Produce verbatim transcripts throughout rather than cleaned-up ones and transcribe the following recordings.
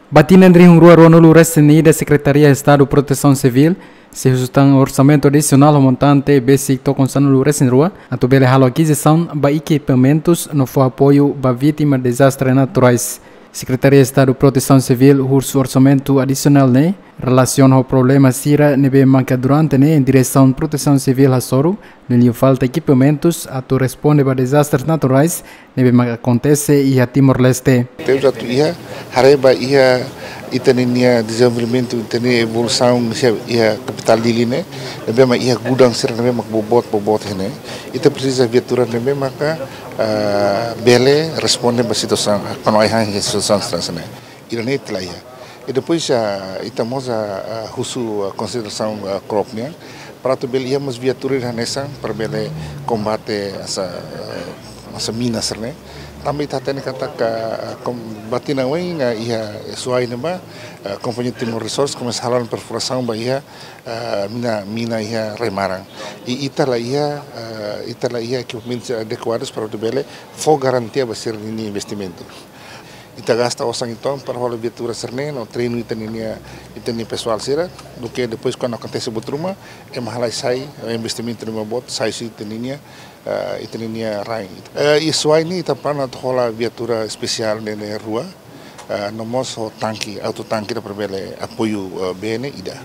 Ba tinan rihun rua ruanulu resin ida, Sekretaria Estadu Protesaun Sivíl sei husu tan orsamentu adisionál ho montante besik tokon sanulu resin rua atu bele halo akizisaun ba ekipamentus no fó apoiu ba vítima dezastre naturais. Sekretaria Estadu Protesaun Sivíl husu orsamentu adisionál ne'e relasiona ho problema sira ne'ebé maka durante ne'e Diresaun Protesaun Sivíl hasoru, liuliu falta ekipamentus atu responde ba dezastres naturais ne'ebé maka akontese iha Timor-Leste. Temos atu iha, haree ba iha ita-nia dezenvolvimentu, ita-nia evolusaun iha, iha kapitál Dili ne'e, ne'ebé mak iha gudang sira ne'ebé mak boboot, boboot iha ne'e. Ita presiza viatura ne'ebé maka, ah, bele responde ba situasaun, kuandu ai-han iha situasaun sira ne'e. Ida-ne'e ita la iha. I depois, ah, ita mós, ah, ah, husu, ah, konsiderasaun, ah, CROP nian, para atu bele iha mós viatura hanesan para bele kombate hanesan, ah, hanesan mina sira ne'e. Tanba ita hatene katak, ah, kom-, ba tinan oin, ah, iha Suai ne'ebá, ah, Kompañia Timor Resources komesa halo perfurasaun ba iha, ah, mina, mina iha rai-maran. I ita la iha, ah, ita la iha ekipamentus adekuadus para atu bele fó garantia ba sira-nia investimentu. Ita gasta osan uitoan para hola viatura sira-ne'e no treinu ita-nia, ita-nia pesoál sira, duké depois kuandu akontese buat ruma, ema halai sai, eh, investimentu ruma boot, sai husi ita-nia, eh, ita-nia rain. Eh, iha Suai ne'e ita planu atu hola viatura espesiál ne'e, ne'e rua, eh, no mós ho tanke, auto tanke ida para bele apoiu, eh, bee ne'e ida.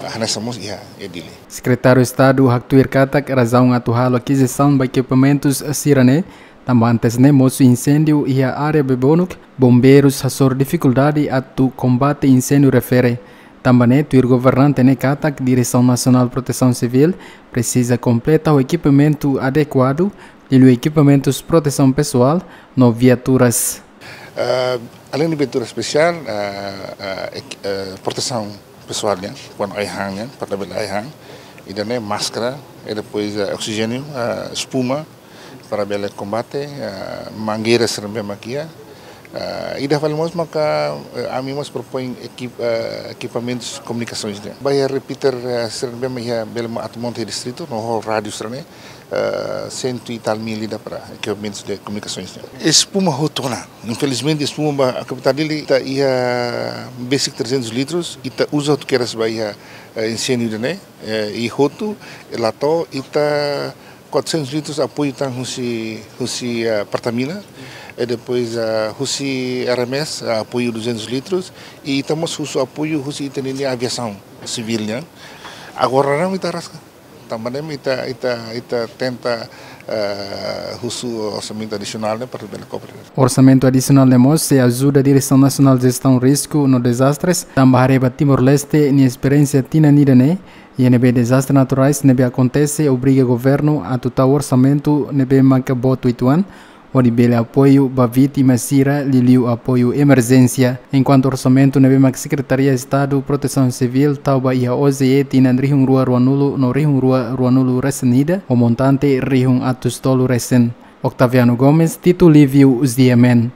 Eh, hanesan mós iha, iha Dili. Sekretáriu Estadu haktuir katak razaun atu halo akizisaun ba ekipamentus sira-ne'e, tanba antes ne'e mosu inséndiu iha área Bebonuk, bombeirus hasoru difikuldade atu kombate inséndiu refere. Tanba ne'e tuir governante ne'e katak Diresaun Nasionál Protesaun Sivíl presiza kompleta ho ekipamentu adekuadu, liuliu ekipamentus protesaun pesoál no viaturas. Ah, além de viatura espesiál, ah, ah, ek-, ah, protesaun pesoál nian, kuandu ai-han nian, para bele ai-han, ida-ne'e máskara, i depois, ah, oksijéniu, ah, espuma, para bele kombate, ah, mangeira sira ne'ebé mak iha. Ah, ida fali mós maka, eh, ami mós propoin ekip-, ah, ekipamentus komunikasoens nian. Ba iha repeater, ah, sira ne'ebé mak iha bele atu monta iha distritu, no ho rádiu sira-ne'e, eh, sentu e tal mil ida para ekipamentus de komunikasoens nian. Espuma hotu ona. Infelizmente, espuma ba kapitál Dili ita iha besik trezentus litrus, ita uza hotu kedas ba iha, eh, inséndiu ida-ne'e, eh, i hotu, la to'o ita quatrocentos litros apoiu tan husi, husi, ah, Pertamina, i depois, ah, husi R M S, ah, apoiu duzentos litros, i ita mós husu apoiu husi ita-nia aviasaun sivíl nian. Agora ne'e ita rasik. Tanba ne'e ita, ita, ita tenta, ah, husu orsamentu adisionál ne'e para bele kopre. Orsamentu adisionál ne'e mós sei ajuda Diresaun Nasionál Jestaun Risku no Dezastres, tanba haree ba Timor-Leste nia esperiénsia tinan ida-ne'e, iha ne'ebé dezastre naturais ne'ebé akontese obriga governu atu tau orsamentu ne'ebé maka boot uitoan, hodi bele apoiu ba vítima sira liuliu apoiu emerjénsia. Enkuantu orsamentu ne'ebé maka Sekretaria Estadu Protesaun Sivíl tau ba iha O J E tinan rihun rua ruanulu no rihun rua ruanulu resin ida, ho montante rihun atus tolu resin. Octaviano Gomes, Tito Livio, Z M N.